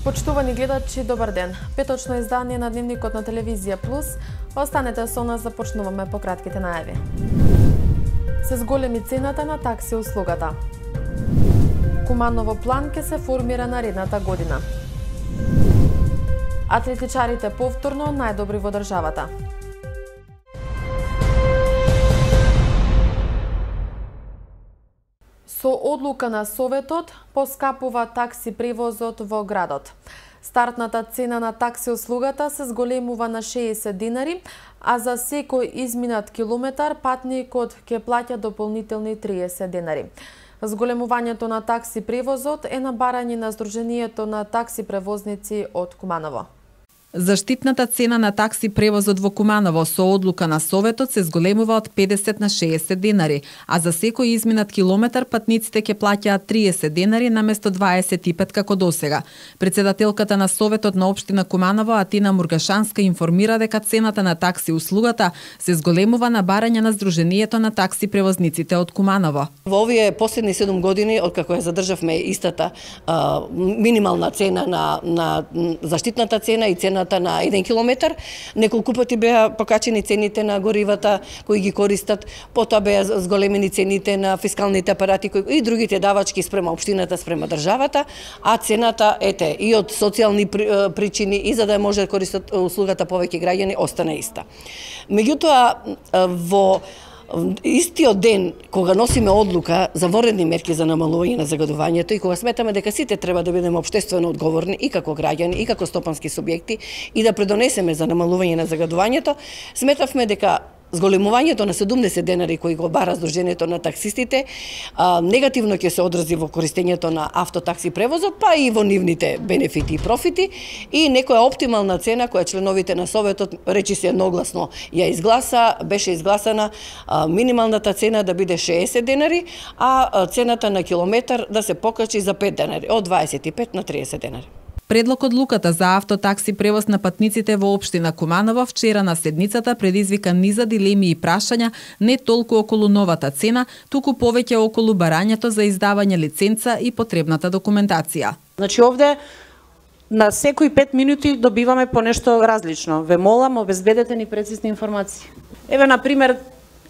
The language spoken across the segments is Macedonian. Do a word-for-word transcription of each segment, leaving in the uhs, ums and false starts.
Почитувани гледачи, добар ден. Петочно издание на Дневникот на Телевизија Плюс. Останете со нас, започнуваме по кратките најави. Се зголеми цената на такси услугата. Куманово план ќе се формира наредната година. Атлетичарите повторно најдобри во државата. Со одлука на Советот поскапува такси превозот во градот. Стартната цена на такси услугата се зголемува на шеесет динари, а за секој изминат километар патникот ќе плаќа дополнителни триесет динари. Зголемувањето на такси превозот е на барање на Сдруженијето на такси превозници од Куманово. Заштитната цена на такси превозот во Куманово со одлука на Советот се зголемува од педесет на шеесет динари, а за секој изминат километар патниците ќе плаќаат триесет динари наместо дваесет и пет како досега. Председателката на Советот на општина Куманово Атина Мургашанска информира дека цената на такси услугата се зголемува на барање на Сдруженијето на такси превозниците од Куманово. Во овие последни седум години, откако ја задржавме истата а, минимална цена на, на заштитната цена и цена на еден километар, неколку пати беа покачени цените на горивата кои ги користат, потоа беа зголемени цените на фискалните апарати кои, и другите давачки спрема општината, спрема државата, а цената, ете, и од социјални причини и за да може да користат услугата повеќе граѓани, остана иста. Меѓутоа, во истиот ден кога носиме одлука за воредни мерки за намалување на загадувањето и кога сметаме дека сите треба да бидеме општествено одговорни и како граѓани и како стопански субјекти и да предонесеме за намалување на загадувањето, сметавме дека зголемувањето на седумдесет денари кои го бара Сдруженијето на таксистите а, негативно ќе се одрази во користењето на автотакси превозот, па и во нивните бенефити и профити, и некоја оптимална цена која членовите на Советот речи се едногласно ја изгласа, беше изгласана а, минималната цена да биде шеесет денари, а цената на километар да се покачи за пет денари, од дваесет и пет на триесет денари. Предлог одлуката за автотакси превоз на патниците во општина Куманово вчера на седницата предизвика низа дилеми и прашања не толку околу новата цена, туку повеќе околу барањето за издавање лиценца и потребната документација. Значи овде на секои пет минути добиваме по нешто различно. Ве молам, обезбедете ни прецизни информации. Еве на пример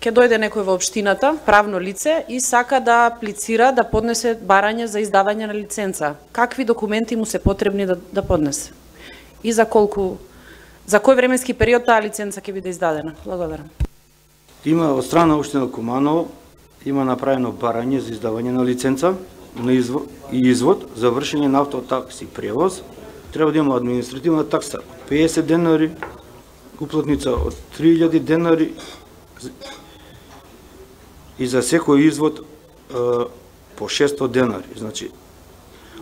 ќе дојде некој во општината, правно лице, и сака да аплицира, да поднесе барање за издавање на лиценца. Какви документи му се потребни да, да поднесе? И за колку, за кој временски период таа лиценца ќе биде издадена? Благодарам. Има од страна општина Куманово, има направено барање за издавање на лиценца на извод, и извод за вршење на автотакси превоз. Треба да има административна такса од педесет денари, уплатница од три илјади денари, и за секој извод е, по шестстотини денари. Значи,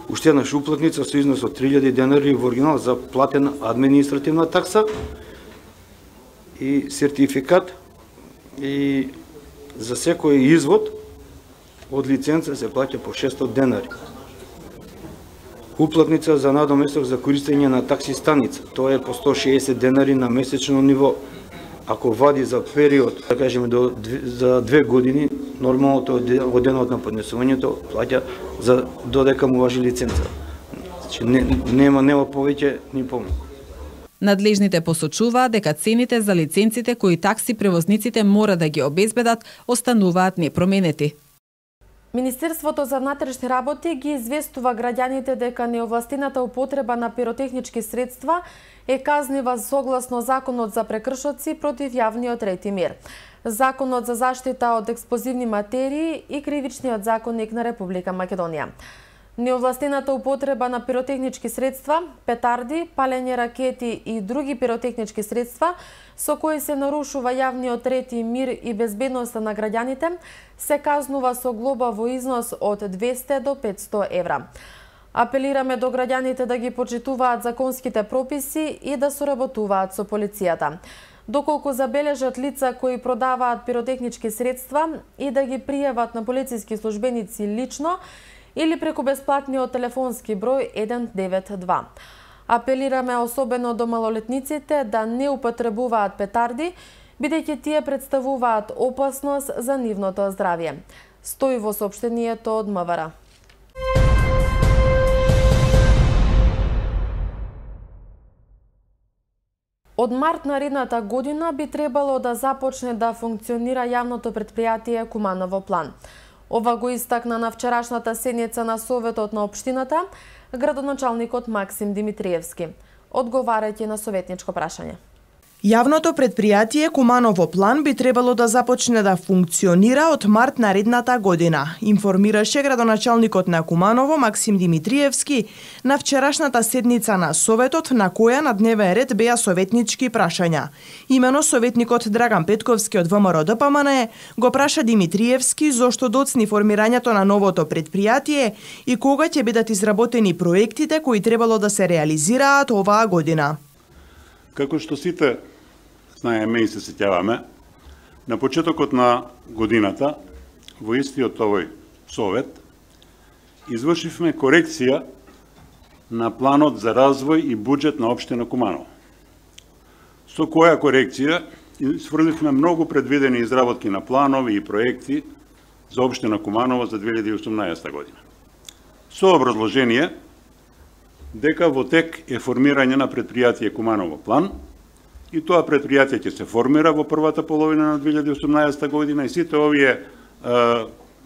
уште еднаш уплатница со износ од три илјади денари во оригинал за платена административна такса и сертификат, и за секој извод од лиценца се плаќа по шестстотини денари. Уплатница за надоместок за користење на такси станица, тоа е по сто шеесет денари на месечно ниво. Ако вади за период, да кажеме, до, за две години, нормалното од денот на поднесувањето плаќа за додека му важи лиценца. Значи, не, нема, нема повеќе ни помалку. Надлежните посочуваат дека цените за лиценците кои такси превозниците мора да ги обезбедат остануваат непроменети. Министерството за внатрешни работи ги известува граѓаните дека неовластената употреба на пиротехнички средства е казнива согласно Законот за прекршоци против јавниот ред и мир, Законот за заштита од експлозивни материи и Кривичниот законник на Република Македонија. Неовластената употреба на пиротехнички средства, петарди, палење ракети и други пиротехнички средства со кои се нарушува јавниот ред и мир и безбедноста на граѓаните се казнува со глоба во износ од двесте до петсто евра. Апелираме до граѓаните да ги почитуваат законските прописи и да соработуваат со полицијата. Доколку забележат лица кои продаваат пиротехнички средства и да ги пријават на полициски службеници лично или преку бесплатниот телефонски број еден девет два. Апелираме особено до малолетниците да не употребуваат петарди, бидејќи тие представуваат опасност за нивното здравје. Стои во соопштението од МВР. Од март наредната година би требало да започне да функционира јавното предпријатие Куманово план. Ова го истакна на вчерашната седница на Советот на општината градоначалникот Максим Димитриевски, одговарајќи на советничко прашање. Јавното предпријатие Куманово план би требало да започне да функционира од март наредната година, информираше градоначалникот на Куманово Максим Димитриевски на вчерашната седница на Советот, на која на дневен ред беа советнички прашања. Имено советникот Драган Петковски од ВМРО-ДПМН го праша Димитриевски зошто доцни формирањето на новото предпријатие и кога ќе бидат изработени проектите кои требало да се реализираат оваа година. Како што сите знаеме и се сеќаваме, на почетокот на годината, во истиот овој совет, извршивме корекција на планот за развој и буџет на општина Куманово. Со која корекција сврдивме многу предвидени изработки на планови и проекти за општина Куманово за две илјади и осумнаесета година. Со образложение дека во тек е формирање на предпријатие Куманово план и тоа предпријатие ќе се формира во првата половина на две илјади и осумнаесета година и сите овие е,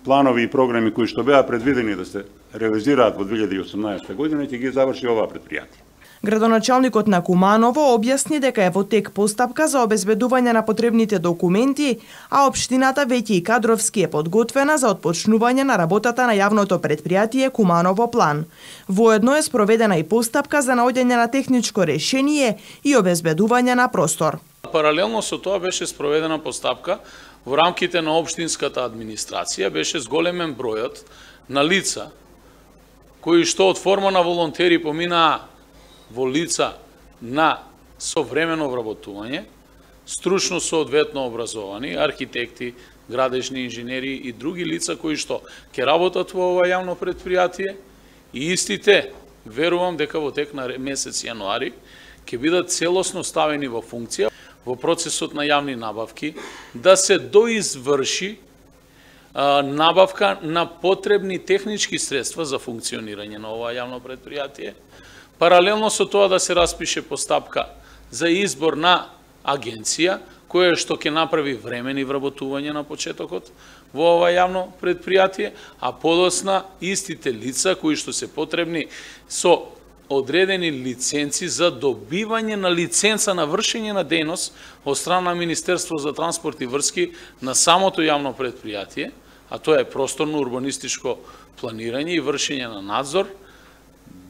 планови и програми кои што беа предвидени да се реализираат во две илјади и осумнаесета година ќе ги заврши оваа предпријатие. Градоначалникот на Куманово објасни дека е во тек постапка за обезбедување на потребните документи, а општината веќе и кадровски е подготвена за отпочнување на работата на јавното предпријатие Куманово план. Воедно е спроведена и постапка за наоѓање на техничко решение и обезбедување на простор. Паралелно со тоа беше спроведена постапка во рамките на општинската администрација, беше зголемен бројот на лица кои што од форма на волонтери поминаа во лица на современо вработување, стручно соодветно образовани, архитекти, градежни инженери и други лица кои што ќе работат во ова јавно предпријатие и истите, верувам дека во тек на месец јануари ќе бидат целосно ставени во функција во процесот на јавни набавки да се доизврши а, набавка на потребни технички средства за функционирање на ова јавно предпријатие. Паралелно со тоа да се распише постапка за избор на агенција, која што ќе направи времени вработување на почетокот во ова јавно предпријатие, а подосна истите лица кои што се потребни со одредени лиценци за добивање на лиценца на вршење на дејност од страна на Министерство за транспорт и врски на самото јавно предпријатие, а тоа е просторно-урбанистичко планирање и вршење на надзор,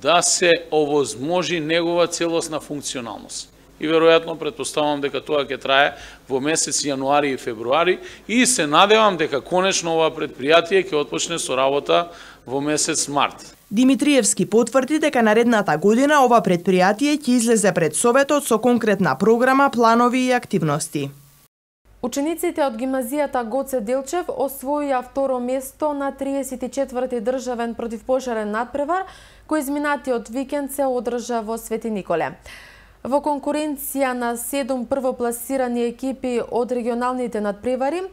да се овозможи негова целосна функционалност. И веројатно претпоставувам дека тоа ќе трае во месец јануари и февруари и се надевам дека конечно ова предпријатие ќе отпочне со работа во месец март. Димитриевски потврди дека наредната година ова предпријатие ќе излезе пред Советот со конкретна програма, планови и активности. Учениците од гимназијата Гоце Делчев освоија второ место на триесет и четврти државен противпожарен надпревар кој изминатиот викенд се одржа во Свети Николе. Во конкуренција на седум првопласирани екипи од регионалните надпревари,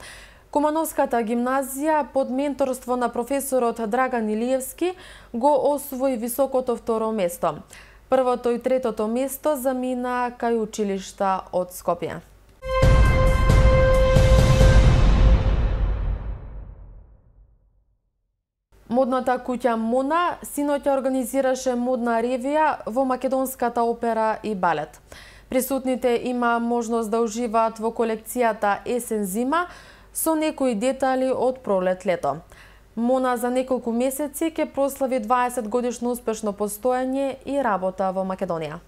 Кумановската гимназија под менторство на професорот Драган Илиевски го освои високото второ место. Првото и третото место замина кај училишта од Скопје. Модната куќа Мона синоќа организираше модна ревија во Македонската опера и балет. Присутните има можност да уживаат во колекцијата Есен-зима со некои детали од пролет-лето. Мона за неколку месеци ќе прослави дваесет годишно успешно постојање и работа во Македонија.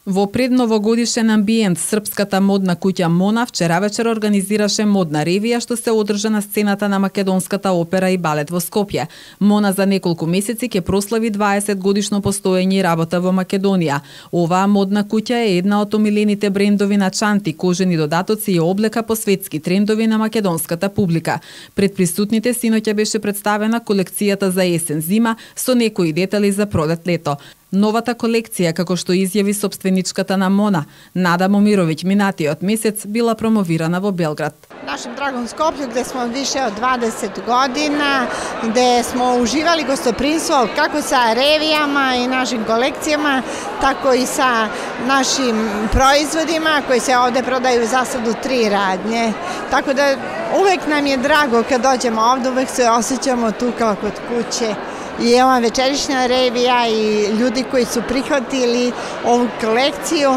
Во предновогодишен амбиент, српската модна куќа Мона вчера вечер организираше модна ревија што се одржа на сцената на Македонската опера и балет во Скопје. Мона за неколку месеци ќе прослави дваесет годишно постоење и работа во Македонија. Оваа модна куќа е една од омилените брендови на чанти, кожени додатоци и облека по светски трендови на македонската публика. Пред присутните синоќа беше представена колекцијата за есен-зима со некои детали за пролет-лето. Новата колекција, како што изјави собственичката на Мона, Нада Момировиќ, минатиот месец била промовирана во Белград. Нашем драгом Скопју, где смо више од дваесет година, где смо уживали гостопримство како са ревијама и нашим колекцијама, тако и са нашим производима кои се овде продају за сад у три радње. Тако да увек нам е драго кога доđemo овде, увек се осеќамо тука код куќе. I ova večerišnja revija i ljudi koji su prihvatili ovu kolekciju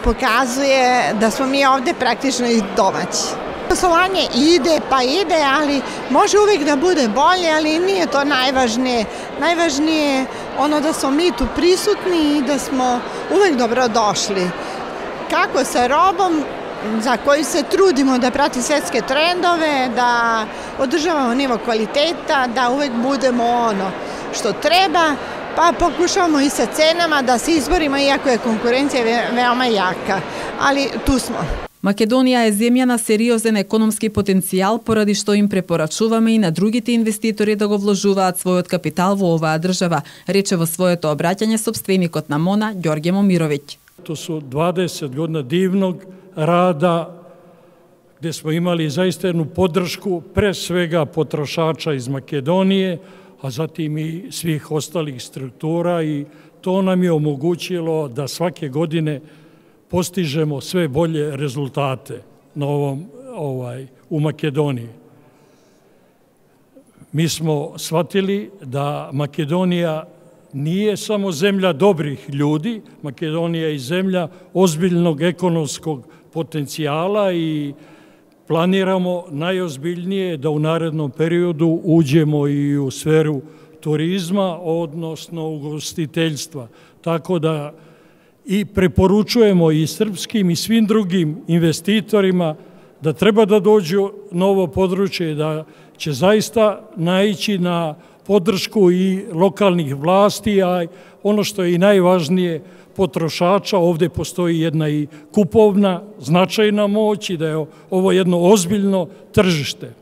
pokazuje da smo mi ovde praktično i domaći. Poslovanje ide pa ide, ali može uvijek da bude bolje, ali nije to najvažnije. Najvažnije je ono da smo mi tu prisutni i da smo uvijek dobro došli. Kako sa robom za koju se trudimo da prati svetske trendove, da održavamo nivo kvaliteta, da uvijek budemo ono što treba, pa pokušavamo i sa cenama da se izborimo, iako je konkurencija veoma jaka, ali tu smo. Македонија е земја на сериозен економски потенцијал, поради што им препорачуваме и на другите инвеститори да го вложуваат својот капитал во оваа држава, рече во своето обраќање собственикот на Мона, Ѓорѓе Момировиќ. To su dvadeset godina divnog rada gde smo imali zaista jednu podršku pre svega potrošača iz Makedonije, a zatim i svih ostalih struktura, i to nam je omogućilo da svake godine postižemo sve bolje rezultate na ovom, ovaj, u Makedoniji. Mi smo shvatili da Makedonija nije samo zemlja dobrih ljudi, Makedonija je i zemlja ozbiljnog ekonomskog potencijala i planiramo najozbiljnije da u narednom periodu uđemo i u sferu turizma, odnosno ugostiteljstva. Tako da i preporučujemo i srpskim i svim drugim investitorima da treba da dođu na ovo područje, da će zaista naići na podršku i lokalnih vlasti, a ono što je i najvažnije, potrošača. Ovde postoji jedna i kupovna značajna moć i da je ovo jedno ozbiljno tržište.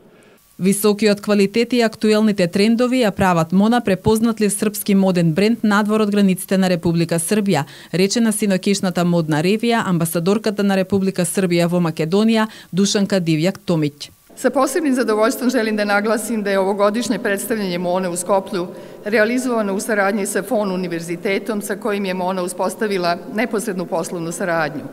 Високиот квалитет и актуелните трендови ја прават Мона препознатлив српски моден бренд надвор од границите на Република Србија, рече на синокишната модна ревија амбасадорката на Република Србија во Македонија Душанка Дивјак Томиć. Sa posebnim zadovoljstvom želim da naglasim da je ovogodišnje predstavljanje Mone u Skoplju realizovano u saradnji sa Fon univerzitetom sa kojim je Mona uspostavila neposrednu poslovnu saradnju.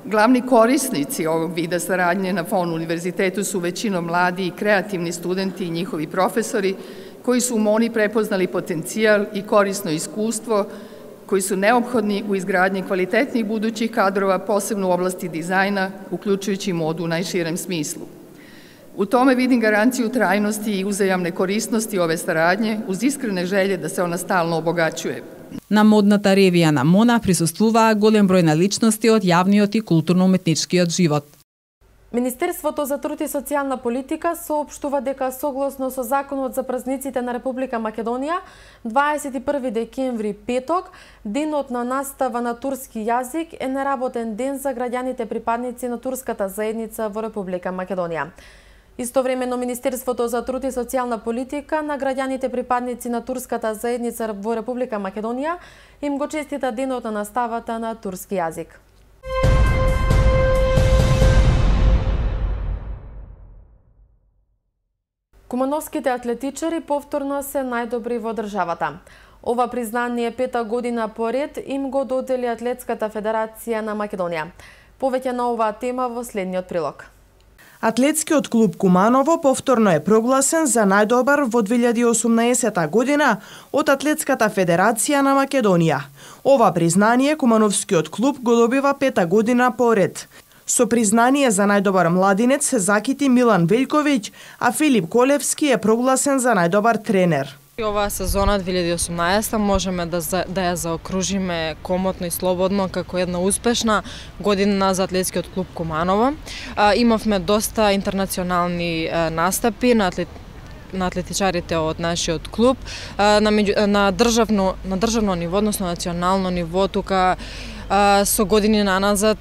Glavni korisnici ovog vida saradnje na Fon univerzitetu su većinom mladi i kreativni studenti i njihovi profesori koji su u Moni prepoznali potencijal i korisno iskustvo koji su neophodni u izgradnji kvalitetnih budućih kadrova, posebno u oblasti dizajna, uključujući modu u najširem smislu. U tome vidim garanciju trajnosti i uzajamne korisnosti ove saradnje uz iskrene želje da se ona stalno obogaćuje. На модната ревија на Мона присуствуваа голем број на личности од јавниот и културно-уметничкиот живот. Министерството за труд и социјална политика соопштува дека согласно со Законот за празниците на Република Македонија, дваесет и први декември, петок, денот на настава на турски јазик е неработен ден за граѓаните припадници на турската заедница во Република Македонија. Истовремено, Министерството за труд и социјална политика на граѓаните припадници на турската заедница во Република Македонија им го честита денот на наставата на турски јазик. Кумановските атлетичари повторно се најдобри во државата. Ова признание пета година поред им го додели Атлетската федерација на Македонија. Повеќе на оваа тема во следниот прилог. Атлетскиот клуб Куманово повторно е прогласен за најдобар во две илјади и осумнаесета година од Атлетската федерација на Македонија. Ова признание Кумановскиот клуб го добива пета година поред. Со признание за најдобар младинец се закити Милан Велјковиќ, а Филип Колевски е прогласен за најдобар тренер. Оваа сезона две илјади и осумнаесета можеме да, да ја заокружиме комотно и слободно како една успешна година за Атлетскиот клуб Куманово. А, имавме доста интернационални а, настапи на атлет на атлетичарите од нашиот клуб а, на, меѓу, на државно на државно ниво, односно национално ниво, тука а, со години наназад.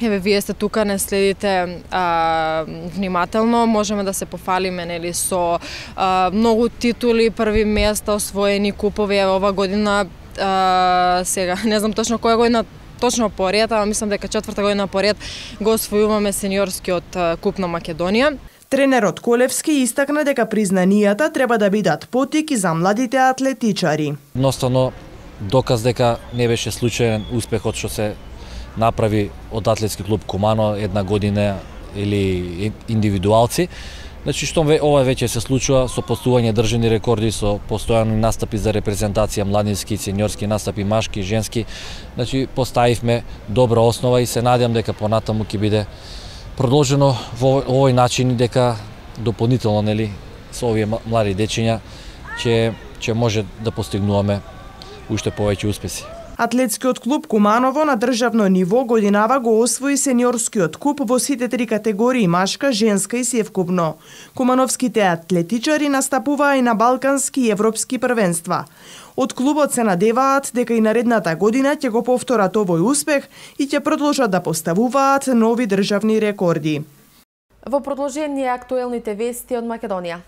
Еве, вие сте тука, не следите а, внимателно, можеме да се пофалиме, нели, со а, многу титули, први места, освоени купови. Еве, ова година а, сега не знам точно која година точно поред, ама мислам дека четврта година поред го освојуваме сениорскиот куп на Македонија. Тренерот Колевски истакна дека признанијата треба да бидат потик и за младите атлетичари. Едноставно доказ дека не беше случаен успехот што се направи од атлетски клуб Кумано една година или индивидуалци. Значи што ова веќе се случува со постување државни рекорди, со постојани настапи за репрезентација, младински, сениорски настапи, машки, женски. Значи поставивме добра основа и се надевам дека понатаму ќе биде продолжено во овој начин, дека дополнително, нели, со овие млади дечиња ќе ќе може да постигнуваме уште повеќе успеси. Атлетскиот клуб Куманово на државно ниво годинава го освои сениорскиот куп во сите три категории машка, женска и севкупно. Кумановските атлетичари настапуваа и на балкански и европски првенства. Од клубот се надеваат дека и наредната година ќе го повторат овој успех и ќе продолжат да поставуваат нови државни рекорди. Во продолжение актуелните вести од Македонија.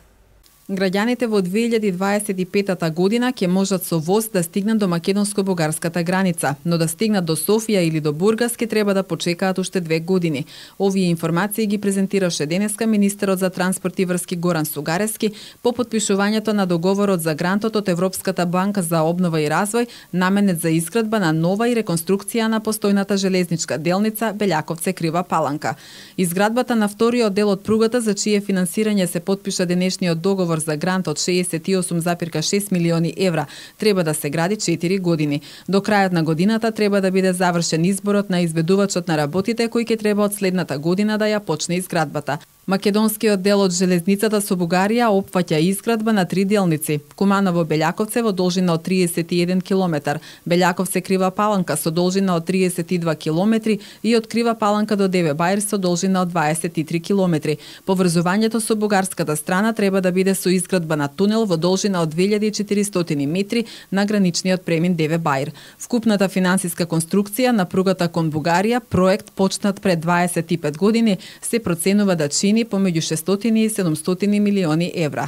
Граѓаните во две илјади дваесет и петата година ќе можат со воз да стигнат до македонско-бугарската граница, но да стигнат до Софија или до Бургас ќе треба да почекаат уште две години. Овие информации ги презентираше денеска министерот за транспорт и врски Горан Сугарески по потпишувањето на договорот за грантот од Европската банка за обнова и развој, наменет за изградба на нова и реконструкција на постојната железничка делница Белјаковце Крива Паланка. Изградбата на вториот дел од пругата за чие финансирање се потпиша денешниот договор за грант од шеесет и осум зарем шест милиони евра треба да се гради четири години. До крајот на годината треба да биде завршен изборот на изведувачот на работите кој ќе треба од следната година да ја почне изградбата. Македонскиот дел од железницата со Бугарија опфаќа изградба на три делници: Куманово-Белјаковце во должина од триесет и еден километар, Белјаковце Крива Паланка со должина од триесет и два километри и од Крива Паланка до Деве Бајр со должина од дваесет и три километри. Поврзувањето со бугарската страна треба да биде со изградба на тунел во должина од две илјади и четиристотини метри на граничниот премин Деве Бајр. Вкупната финансиска конструкција на пругата кон Бугарија, проект почнат пред дваесет и пет години, се проценува да чини помеѓу шестстотини и седумстотини милиони евра.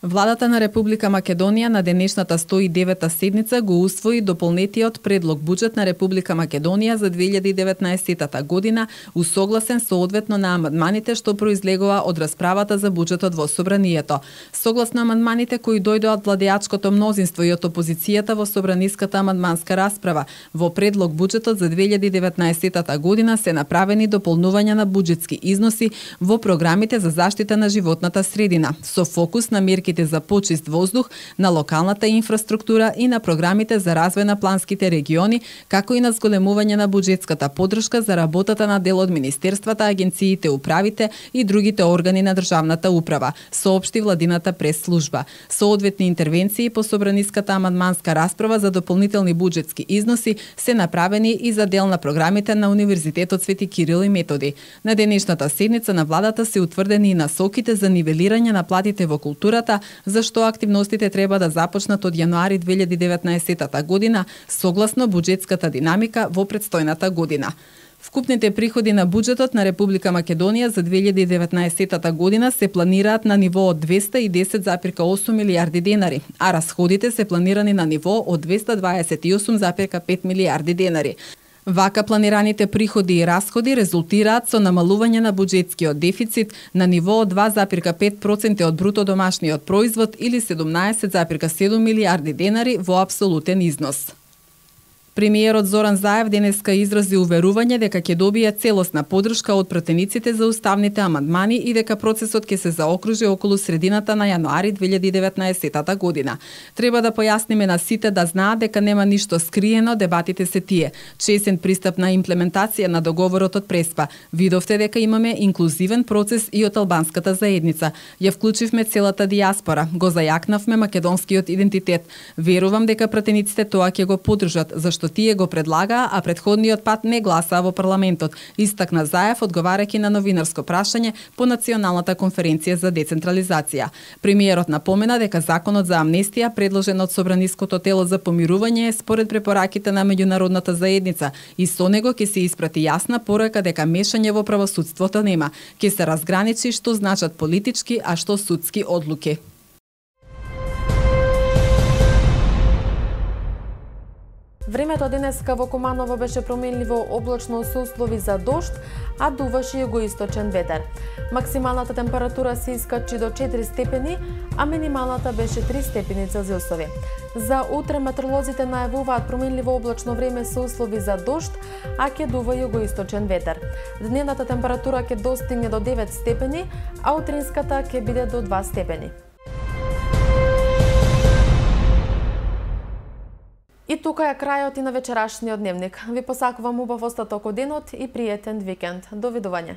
Владата на Република Македонија на денешната сто и девета седница го усвои дополнетиот предлог буџет на Република Македонија за две илјади и деветнаесета година, усогласен соодветно на амандманите што произлегува од расправата за буџетот во собранието. Согласно амандманите кои дојдоа од владеачкото мнозинство и од опозицијата во собраниската амандманска расправа, во предлог буџетот за две илјади и деветнаесета година се направени дополнувања на буџетски износи во програмите за заштита на животната средина, со фокус на мерки за почист воздух, на локалната инфраструктура и на програмите за развој на планските региони, како и на зголемување на буџетската поддршка за работата на дел од министерствата, агенциите, управите и другите органи на државната управа, соопшти владината прес-служба. Соодветни интервенции по собраниската амандманска расправа за дополнителни буџетски износи се направени и за дел на програмите на Универзитетот Свети Кирил и Методи. На денешната седница на владата се утврдени и насоките за нивелирање на платите во културата, зашто активностите треба да започнат од јануари две илјади и деветнаесета година, согласно буџетската динамика во претстојната година. Вкупните приходи на буџетот на Република Македонија за две илјади и деветнаесета година се планираат на ниво од двеста и десет зарем осум милијарди денари, а расходите се планирани на ниво од двеста дваесет и осум зарем пет милијарди денари. Вака планираните приходи и расходи резултираат со намалување на буџетскиот дефицит на ниво од два зарем пет проценти од бруто домашниот производ или седумнаесет зарем седум милијарди денари во апсолутен износ. Премиерот Зоран Заев денеска изрази уверување дека ќе добие целосна поддршка од пратениците за уставните амандмани и дека процесот ќе се заокружи околу средината на јануари две илјади и деветнаесета година. Треба да појасниме на сите да знаат дека нема ништо скриено, дебатите се тие. Чесен пристап на имплементација на договорот од Преспа. Видовте дека имаме инклузивен процес и од албанската заедница. Ја вклучивме целата дијаспора, го зајакнавме македонскиот идентитет. Верувам дека пратениците тоа ќе го поддржат, зашто што тие го предлагаа, а предходниот пат не гласаа во парламентот, истакна Заев одговарајќи на новинарско прашање по Националната конференција за децентрализација. Премиерот напомена дека законот за амнестија, предложен од Собраниското тело за помирување, е според препораките на меѓународната заедница и со него ќе се испрати јасна порака дека мешање во правосудството нема. Ќе се разграничи што значат политички, а што судски одлуки. Времето денеска во Куманово беше променливо облачно со услови за дожд, а дуваше југоисточен ветер. Максималната температура се искачи до четири степени, а минималната беше три степени Целзиусови. За утре метеоролозите најавуваат променливо облачно време со услови за дожд, а ќе дува југоисточен ветер. Дневната температура ќе достигне до девет степени, а утринската ќе биде до два степени. И тука е крајот и на вечерашниот дневник. Ви посакувам убав остаток од денот и пријатен викенд. Довидување.